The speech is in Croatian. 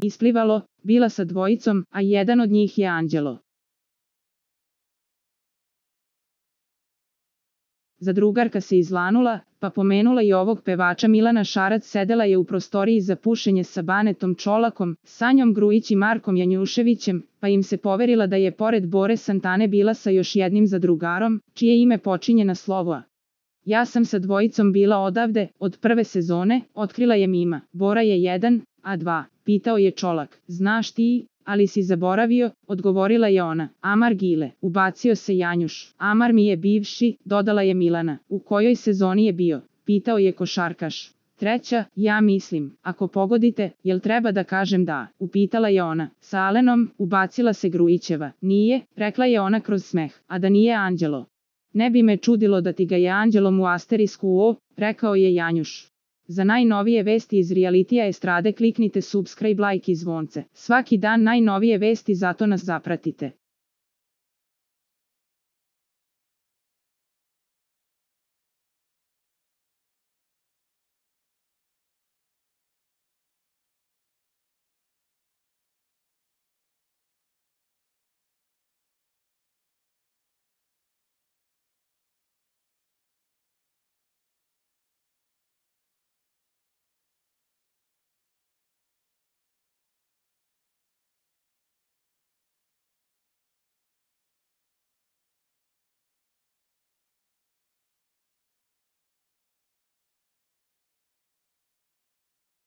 isplivalo, bila sa dvojicom, a jedan od njih je Anđelo. Zadrugarka se izlanula, pa pomenula i ovog pevača. Milana Šarac sedela je u prostoriji za pušenje sa Banetom Čolakom, Sanjom Grujić i Markom Janjuševićem, pa im se poverila da je pored Bore Santane bila sa još jednim zadrugarom, čije ime počinje na slovo A. Ja sam sa dvojicom bila odavde, od prve sezone, otkrila je Mima. Bora je 1, a 2, pitao je Čolak. Znaš ti, ali si zaboravio, odgovorila je ona. Amar Gile, ubacio se Janjuš. Amar mi je bivši, dodala je Milana. U kojoj sezoni je bio? Pitao je košarkaš. 3, ja mislim, ako pogodite, jel treba da kažem da? Upitala je ona. Sa Alenom, ubacila se Grujićeva. Nije, rekla je ona kroz smeh, a da nije Anđelo. Ne bi me čudilo da ti ga je Anđelom u asterisku O, rekao je Janjuš. Za najnovije vesti iz realitija estrade kliknite subscribe, like i zvonce. Svaki dan najnovije vesti, zato nas zapratite.